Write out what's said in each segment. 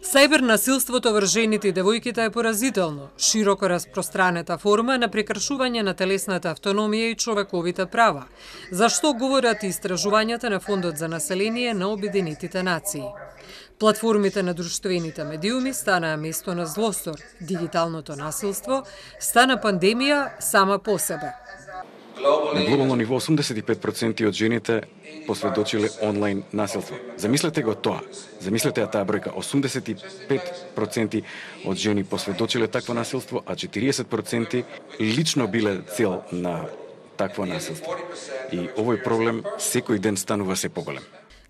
Сајбер насилството врз жените и девојките е поразително, широко распространета форма на прекршување на телесната автономија и човековите права, за што говорат и истражувањата на Фондот за население на Обединетите нации. Платформите на друштвените медиуми станаа место на злостор, дигиталното насилство стана пандемија сама по себе. На глобално ниво 85% од жените посведочиле онлайн насилство. Замислете го тоа. Замислете таа бројка. 85% од жени посведочиле такво насилство, а 40% лично биле цел на такво насилство. И овој проблем секој ден станува се поголем.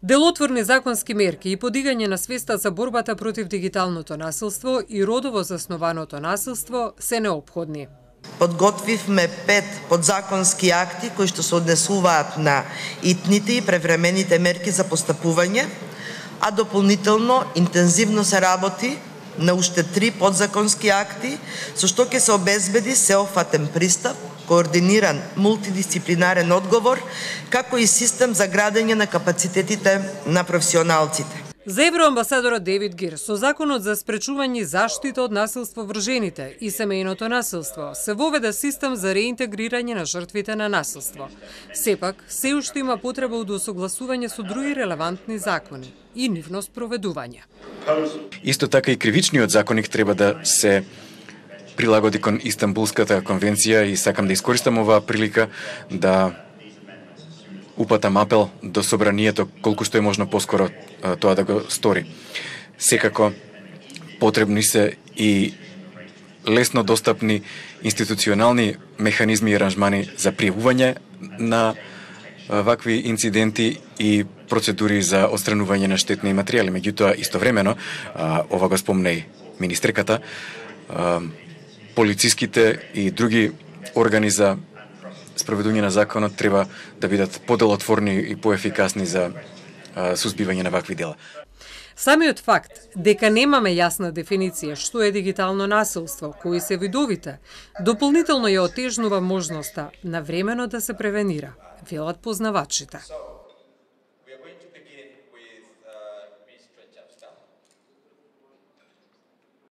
Делотворни законски мерки и подигање на свеста за борбата против дигиталното насилство и родово заснованото насилство се неопходни. Подготвивме 5 подзаконски акти кои што се однесуваат на итните и превремените мерки за постапување, а дополнително интензивно се работи на уште 3 подзаконски акти, со што ќе се обезбеди сеопфатен пристап, координиран мултидисциплинарен одговор, како и систем за градење на капацитетите на професионалците. За евроамбасадорот Дейвид Гир, со законот за спречување и заштита од насилство врз жените и семејното насилство, се воведе систем за реинтегрирање на жртвите на насилство. Сепак, се уште има потреба од усогласување со други релевантни закони и нивно спроведување. Исто така и кривичниот законник треба да се прилагоди кон Истанбулската конвенција и сакам да искористам оваа прилика да упатам апел до собранието колку што е можно поскоро тоа да го стори. Секако потребни се и лесно достапни институционални механизми и аранжмани за пријавување на вакви инциденти и процедури за отстранување на штетни материјали. Меѓутоа, истовремено, ова го спомне и министрката, полициските и други органи за спроведување на законот треба да бидат поделотворни и поефикасни за сузбивање на вакви дела. Самиот факт дека немаме јасна дефиниција што е дигитално насилство, кои се видовите, дополнително ја отежнува можноста навремено да се превенира, велат познавачите.